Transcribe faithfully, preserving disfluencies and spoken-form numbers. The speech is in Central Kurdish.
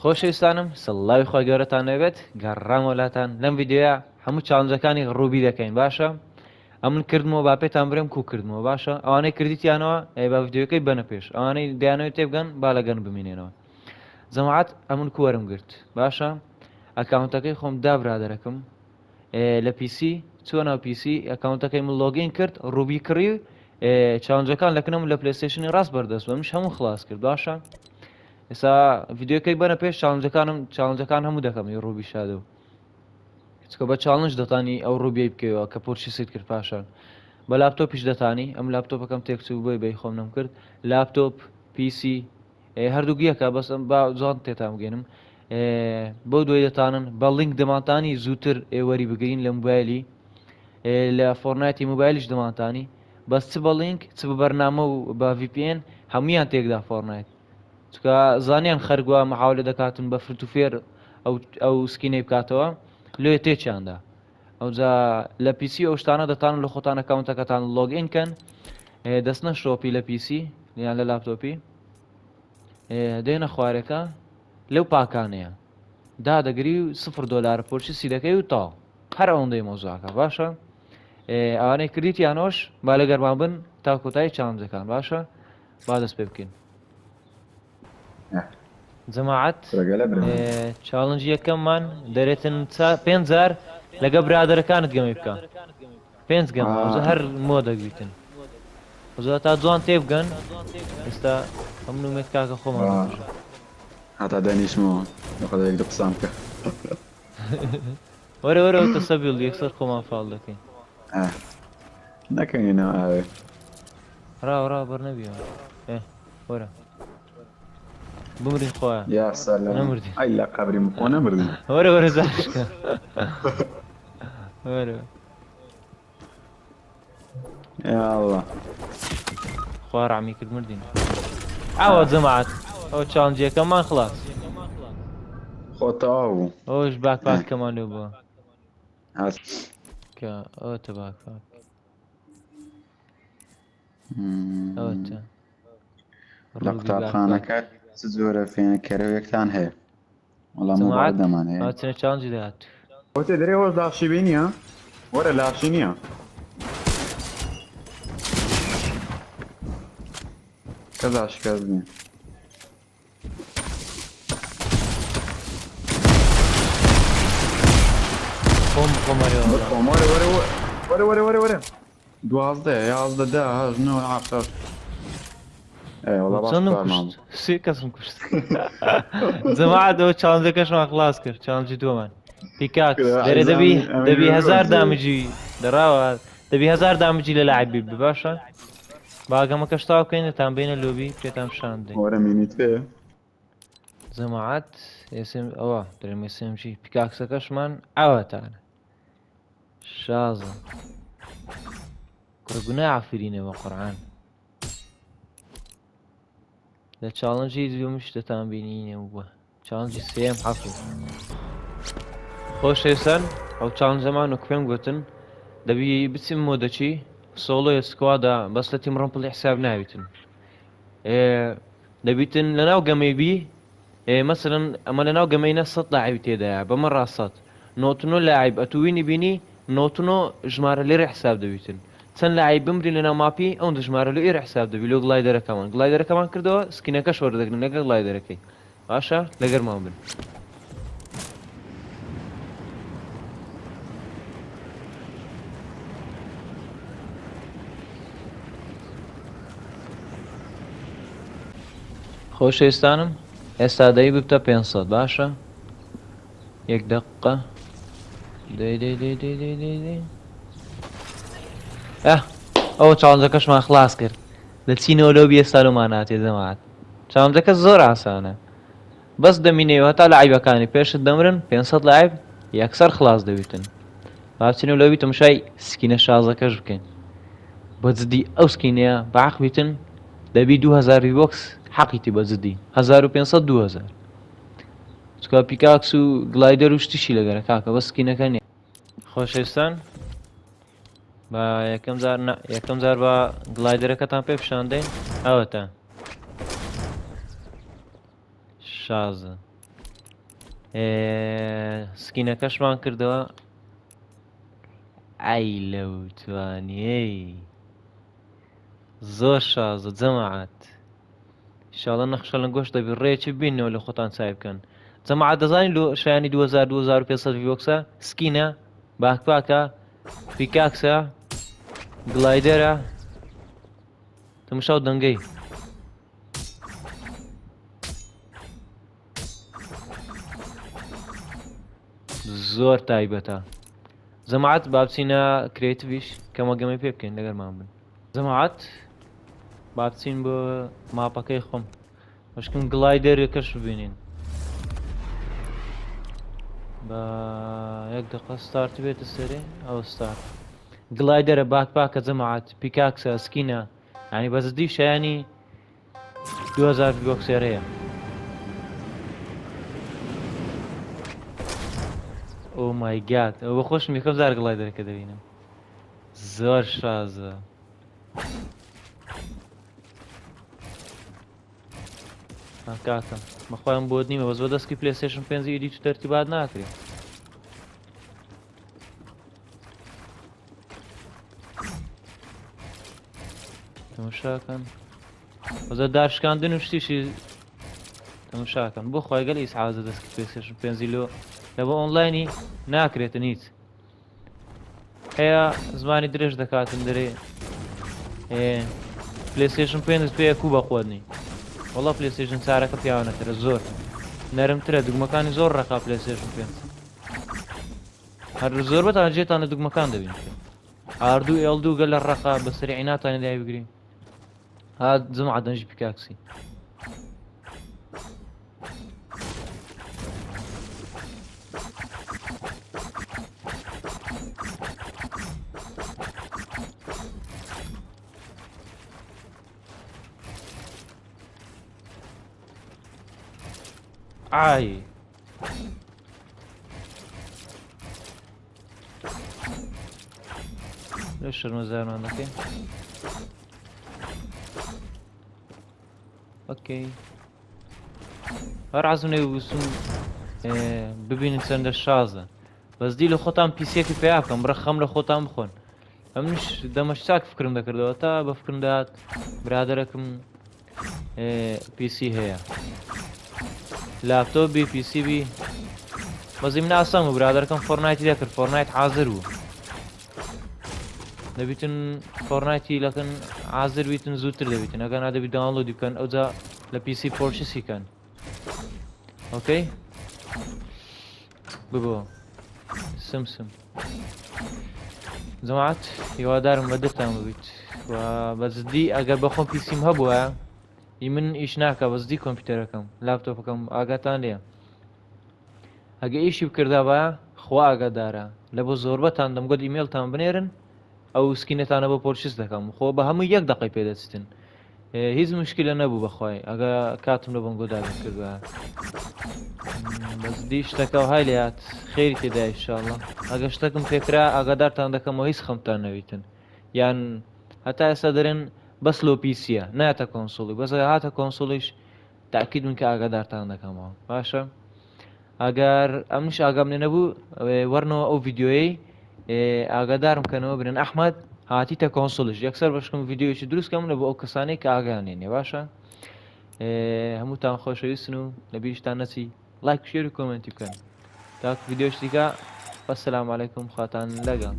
خۆشەویستانم سڵاوی خۆی گەورەتان نەبێت. گەڕامەوە لاتان لەم ڤیدیۆیە هەموو challenge ەکانی Ruby دەکەین. باشە ئەمن کردمەوە با پێتان برێم کو کردمەوە. باشە ئەوانەی کردیتیانەوە ئەی با ڤیدیۆکەی بەنە پێش، ئەوانەی دەیانەوێت تێبگەن با لەگەن بمینێنەوە. جەماعەت ئەمن کووەرم گرت. باشە account ەکەی خۆم دا برادەرەکەم لە PC چووە ناو PC account ەکەی من login کرد، Ruby کڕی، challenge ەکان لەکنەم لە PlayStation ی ڕاست بەردەست بە منش هەموو خلاص کرد. باشە ئێستا ڤیدیۆکەی بەنە پێش challenge ەکانم، challenge ەکان هەموو دەکەم ی Ruby Shadow، چکە بە challenge دەتانی ئەو Ruby ی بکەوە کە purchase ت کرد. پاشان بە لاپتۆپیش دەتانی، ئەم لاپتۆپەکەم تێکچوو بۆی بەی خۆم نەم کرد. لاپتۆپ PC هەردوو یەکە، بەس با جوان تێتان بگەێنم. بۆ دوای دەتانن بە لینک دەمانتانی زووتر ئێوەری بگرین لە موبایلی، لە Fortnite ی موبایلیش دەمانتانی، بەس چ بە لینک چ بە بەرنامە و بە VPN هەمویان تێکدا Fortnite، چکە زانیان خەرگووە محاولە دەکاتن بە فرت و فێر ئەو ئەو skin ەی بکاتەوە لێ تێچیاندا. ئەوجا لە PC ئەو شتانە دەتانن لە خۆتان account ەکەتان login کەن، دەستنە shop ی لە PC یان لە لاپتۆپی دێنە خوارەکە لەو پاکانەیە دادەگری و سفر دۆلار purchase ی دەکەی و تا هەر ئەوەندەی مۆزاکە. باشە ئەوانەی کردیتیانۆش با لەگەرمان بن تا کۆتایی challenge ەکان. باشە با دەست پێ بکەین. جەماعەت challenge یەکەممان دەرێتن پێنج جار لەگە برادەرەکانت گەمەی بکە، پێنج گەمە هەر مۆدەک بیتن زۆر تا جوان تێبگەن. ئێستا ئەم نومێت کاکە خۆمان هەتا دانیشمەوە لەخۆدا یەک دوو قسان بکە. وەرە وەرە تەسەبیل یەکسەر خۆمان فاڵ دەکەین. نەکەینەوە ئاوێ ڕاو ڕاو بەر نەبیەوە. وەرە بمرین خۆیان. یا سەلام نەمردین. ئەی لە قەبری خۆ نەمردین. وەرە وەرە زاشکە وەرە. یا الله خوا ڕەحمی کرد مردین. ئاوە جەماعەت ئەو challenge ەکەمان خلاص. خۆ تەواو بوو. ئەوش backpack کەمان لێ بووە. کە ئەوەتە backpack ئەوەتە لە قوتابخانەکە چ جۆرە فێنکەرەوەیەکتان هەیە؟ وەڵام جەماعەت دەمان هەیە. ئەوە challenge ی داهات. ئەوتێ دەرێ هۆش لاشی بینیە؟ وەرە لاشی نییە. کەس لاشی کەس نییە. خۆم خۆمەرە خۆم وەرە وەرە وەرە وەرە وەرە وەرە دوازدە یازدە دە هەشت نۆ حەفت. ئێ وەڵا باش چەندم کارمان کوشت؟ سێ کەسم کوشت. جەماعەت ئەو challenge ەکەشمان خلاص کرد. challenge ی دووەمان pickaxe دەرێ دەبی دەبی هەزار damage ی دەڕاوە، دەبی هەزار damage ی لە لاعب بی. باشە با گەمەکەش تاو بکەین تان بینە lobby پێتان پیشان بدەین. وەرە مینیت پێ جەماعەت ئێسم ئەوە دەرێم SMG pickaxe ەکەشمان ئاواتانە شازە. کوڕ گوناه ئافرینە بە قورئان. لە challenge ی دووەمیش دەتان بینینەوە بووە. challenge ی سێیەم حەفو. خۆشەویستان ئەو challenge ەمان وەک پێم گوتن دەبی بچیم مۆدەچی solo ی squad ا، بەس لە team rumble ی حساب ناویتن. دەبیتن لەناو گەمەی بی، مەسەلەن ئەمە لەناو گەمەینە سەد لاعبی تێدایە، بەمە ڕاست نۆتنۆ لاعب ئەتووینی بینی نۆتنۆ ژمارە لێرە حساب دەبیتن. چەند لاعب بمرین لەناو map ی ئەوەندە ژمارە لۆ ئێرە حساب دەبی لۆ glider ەکەمان. glider ەکەمان کردەوە skin ەکەش وەردەگرن لەگەڵ glider ەکەی. باشە لەگەرمان بن. خۆشەویستانم ئێستا دەی ببتە پێنج سەد. باشە یەک دقیقە دەی دەی دەی دەی دەی دەی دەی. ئە ئەوە challenge ەکەشمان خلاص کرد. دەچینەوە lobby ئێستا لۆمان هاتێ جەماعەت. challenge ەکە زۆر ئاسانە، بەس دەمینەوە هەتا لاعیبەکانی پێشت دەمرن پێنج سەد لاعب یەکسەر خلاص دەبیتن. با بچینەوە lobby تەماشای skin ە شازەکەش بکەین. بە جدی ئەو skin ەیە بەعەق بیتن دەبی دوو هەزار V-Bucks حەقیتی بە جدی هەزار و پێنج سەد دوو هەزار. چکا pickaxe و glider و شتیشی لەگەرە کاکە، بەس skin ەکە نییە. خۆشەویستان با یەکەم جار نا، یەکەم جار با glider ەکەتان پێ پیشان دەین. ئەوەتە شازە. skin ەکەشمان کردەوە. ئای لەو توانیەی زۆر شازە جەماعەت. ئینشاڵڵا نەخشە لە گۆشت دەبی ڕێکی بینەوە لە خۆتان چای بکەن. جەماعەت دەزانی لۆ شایانی دوو هەزار دوو هەزار و پێنج سەد V-Bucks ە؟ skin ە، backpack ە، pickaxe ە، glider ە. تەماشاو دەنگەی زۆر تایبەتە. جەماعەت با بچینە creative یش کەمە گەمەی پێ بکەین لەگەرمان بن. جەماعەت با بچین بۆ map ەکەی خۆم بەشکم glider ەکەش ببینین. بە یەک دقە start بێتە سەرێ. ئەو start glider ە، backpack ە جەماعەت، pickaxe ە، skin ە. یعنی بە جدی شایانی دوو هەزار V-Bucks ێرەیە. oh my god، ئەوە بە خۆشم یەکەم جار glider ەکە دەبینم. زۆر شازە. کاکە بەخوایان بۆت نیمە، بەس بە دەستکی PlayStation پێنج edit و تەرتیبات ناکرێ. تەماشاکەن بەزە دارشکاندن و شتیشی تەماشاکەن. بۆ خۆی گەل ئیسعازە دەستکی PlayStation پێنجی لۆ لە بۆ ئۆنلاینی ناکرێتن هیچ. هەیە زمانی درێژ دەکاتن دەرێ PlayStation پێنج پێیە کو بەخۆت نی. وەڵا PlayStation چارەکە پیاوانەترە، زۆر نەرمترە، دوگمەکانی زۆر ڕەقا PlayStation پێنج. هەر زۆر بەتان جێتان لە دوگمەکان دەبین. R دوو L دوو گەل لە ڕەقا بە سەریعی ناتوانێت دای بگرین. هات جمعە دەنجی pickaxe ی. ئای لە شەرمەزارمان دەکەین. okay هەر عەزم نەبوو ببینن چەندە شازە. بەس دی لە خۆتان PC یەکی پیا بکەم، بڕە خەم لە خۆتان بخۆن. ئەمنیش دەمەش چاک فکرم دەکردەوە تا بە فکرم داهات برادەرەکم PC هەیە، لاپتۆپ بی PC بی. بەزی من ئاسان بوو برادەرەکەم Fortnite ی دەکرد، Fortnite حازر بوو. دەبیتن Fortnite ی لەکەن حازر بیتن زووتر دەبیتن، ئەگەر نادەبی download ی بکەن ئەوجا لە PC purchase ی کەن. okay ببۆ سمسم. جەماعەت هیوادارم بە دڵتان ببیت و بە جدی ئەگەر بەخۆم PC م هەبووە ئی من ئیش ناکە، بە جدی کۆمپیوتەرەکەم لاپتۆپەکەم ئاگاتان لێیە. ئەگە ئیشی بکردابە خوا ئاگادارە لە بۆ زۆربەتان دەمگوت ئیمێڵتان بنێرن ئەو skin ەتانە بۆ purchase دەکەم. خۆ بە هەموو یەک دقەی پێدەچتن، هیچ مشکلە نەبوو بەخوای ئەگە کاتم لە بۆنگۆ دابین کردووە. بەجدی شتەکە های لێهات خێری تێدا ئینشاڵڵا. ئەگە شتەکم پێکرا ئاگادارتان دەکەمەوە هیچ خەمتان نەویتن. یان هەتا ئێستا دەرێن بەس لۆ PC یە ناتە console ی، بەس ئەگەر هاتە console یش تاکید من کە ئاگادارتان دەکەمەوە. باشە ئەگەر ئەمنیش ئاگام لێ نەبوو وەرنەوە ئەو ڤیدیۆیەی ئاگادارم کەنەوە برێن ئەحمەد هاتیتە console یش، یەکسەر بەشکم ڤیدیۆیەکی دروست کەم لە بۆ ئەو کەسانەی کە ئاگایان لێ نییە. باشە هەمووتان خۆشەویستن و لەبیرشتان نەچی like share و comment ی بکەن. تاکو ڤیدیۆش دیکە، وەسەلام عەلەیکم، خواتان لەگەڵ.